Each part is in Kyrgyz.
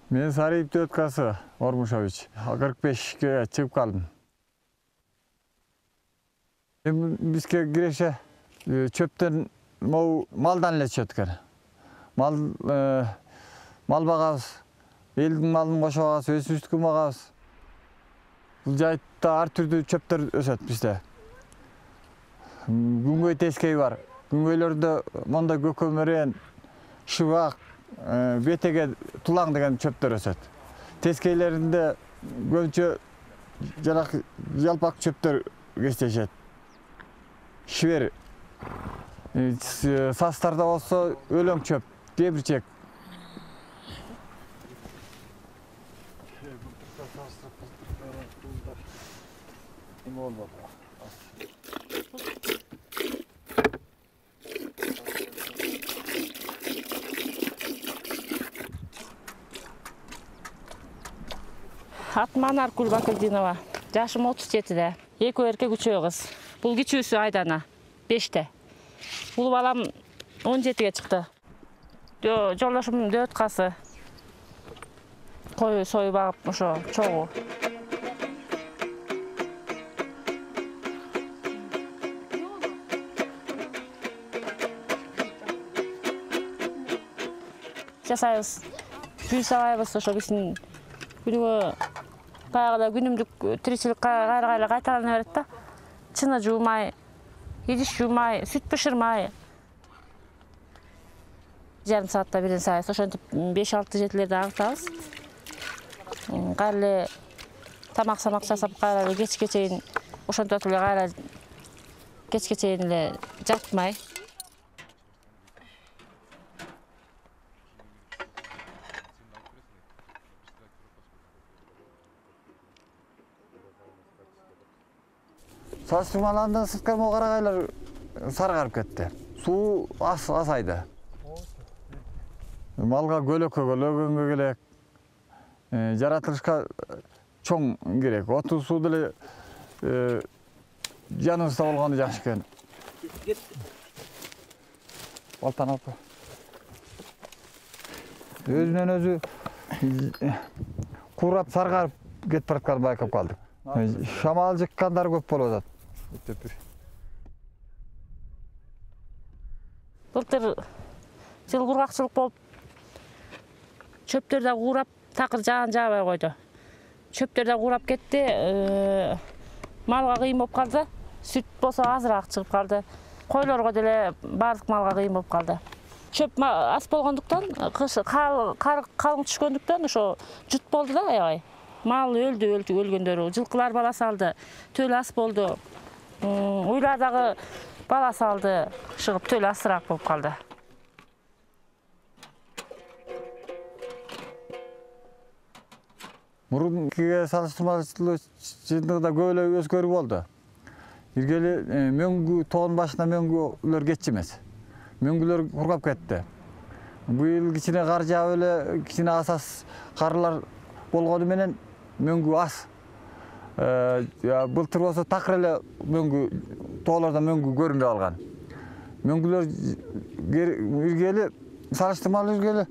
Мен Сарыйып Дөткасы Ормушович 45-ке чыгып калдым. Бизге киреше чөптөн малдан эле түшөт экен. Мал багабыз, элдин малын кошуп алабыз, өсүштүккө багабыз. Бул жайытта ар түрдүү чөптөр өсөт бизде. Күнгөй тескей бар. Күнгөйлөрдө монда көкөмөрөн, шыбак, бетеге тулаң деген чөптөр өсөт. Тескейлеринде көбүнчө жалпак чөптөр кездешет. Шибер. Састарда болсо өлөң чөп, дебирчек. Атым Анар Кулбакылдинова. Жашым 37-де. Экөө эркек, үчөө кыз. Бул кичүүсү Айдана 5-те. Бул балам 17-ге чыкты. Жолдошум Дөткасы. Кой сою багып ошо чогуу. Жасайбыз. Үй сабайбыз ошо биздин күнүгө баягыда күнүмдүк тиричилик кайра кайталана берет да. Чыны жуумай, идиш жуумай, сүт бышырмай. Жарым саатта бирин сабайбыз. Ошентип 5-6 жетилерде агытабыз. Кайра эле тамак-самак жасап кайра эле кечке чейин ошентип эле кайра кечке чейин эле жатмай. Салыштырмаландан сырткы карагайлар саргарып кетти. Суу азайды. Малга көлөгөнгө керек. Жаратылышка чоң керек. Оту суу деле жаныбызда болгону жакшы экен. Балтан алып. Өзүнөн өзү курап саргарып кетип баратканын байкап калдык. Шамал жыккандар көп болуп атат. Былтыр жыл кургакчылык болуп чөптөр да куурап, такыр жаабай койду. Чөптөр да куурап кетти. Малга кыйын болуп калды. Сүт болсо азыраак чыгып калды. Койлорго деле баардык малга кыйын болуп калды. Чөп аз болгондуктан, калың түшкөндүктөн ошо жут болду да аябай. Мал өлгөндөрү, жылкылар бала салды, төл ас болду. Уйлар дагы бала салды, чыгып төл асыраак болуп калды. Мурункиге салыштырмалуу чындыгында көп эле өзгөрүү болду. Иргели мөңгү тоон башына мөңгүлөр кетчү эмес. Мөңгүлөр кургап кетти. Быйыл кичине кар жаап эле, кичине асас карлар болгону менен мөңгү аз. Былтыр болсо такыр эле тоолордон мөңгү көрүнбөй калган. Мөңгүлөр иргели салыштырмалуу иргели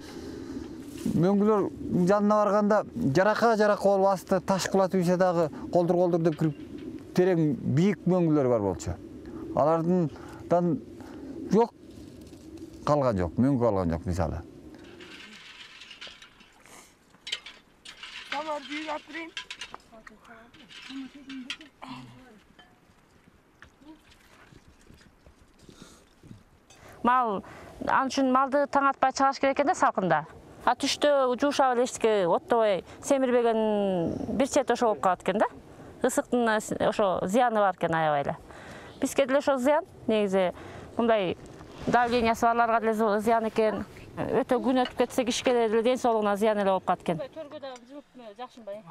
мөңгүлөр жанына барганда жарака болуп асты таш кулатып ийсе дагы колдур деп кирип терең бийик мөңгүлөр бар болчу. Алардан жок калган жок, мөңгү калган жок мисалы. Мал, ал үчүн малды таң атпай чыгаш керек экен да салкында. А түштө жуушап эле эчтеке оттобой семирбеген бир чет ошо болуп калат экен да. Ысыктын ошо зыяны бар экен аябай эле. Бизге деле ошо зыян, негизи мындай давлениясы барларга деле зыян экен. Өтө күн өтүп кетсе кишиге деле ден соолугуна зыян эле болуп калат экен. Төргө дагы жылып жакшынбай.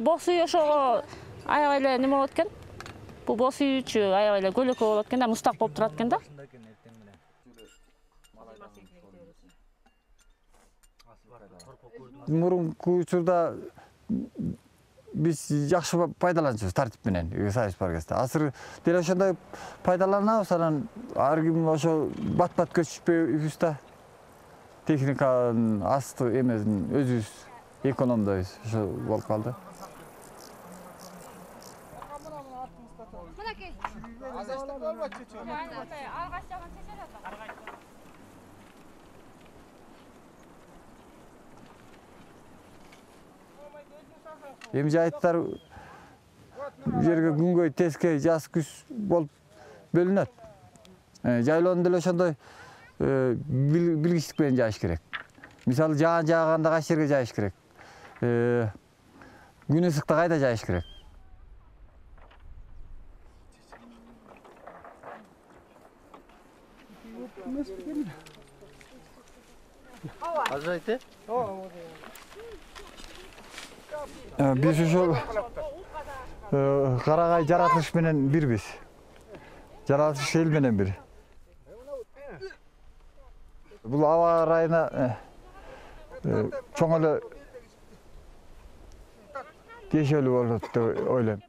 Бос үй ошого аябай эле неме болот экен. Бул бос үйчү аябай эле көлөкө болот экен да, мустак болуп турат экен да. Мурунку учурда биз жакшы пайдаланчубуз тартип менен сайыс бар кезде. Азыр деле ошондой пайдаланабыз, анан ар ким ошо бат-бат көчүшпөйбүз да. техниканын асты эмесин өзүбүз экономдойбуз. Ошо болуп калды. Эми жайыттар жерге күнгөй, тескей, жаз, күз болуп бөлүнөт. Жайлоону деле ошондой билгичтик менен жайыш керек. Мисалы жаан жааганда кайсы жерге жайыш керек. Күн ысыкта кайда жайыш керек. Ажырайт, Биз ошол карагай жаратылыш менен бирбиз. Жаратылыш эл менен бир. Бул аба ырайына чоң эле тиешелүү болот деп ойлойм.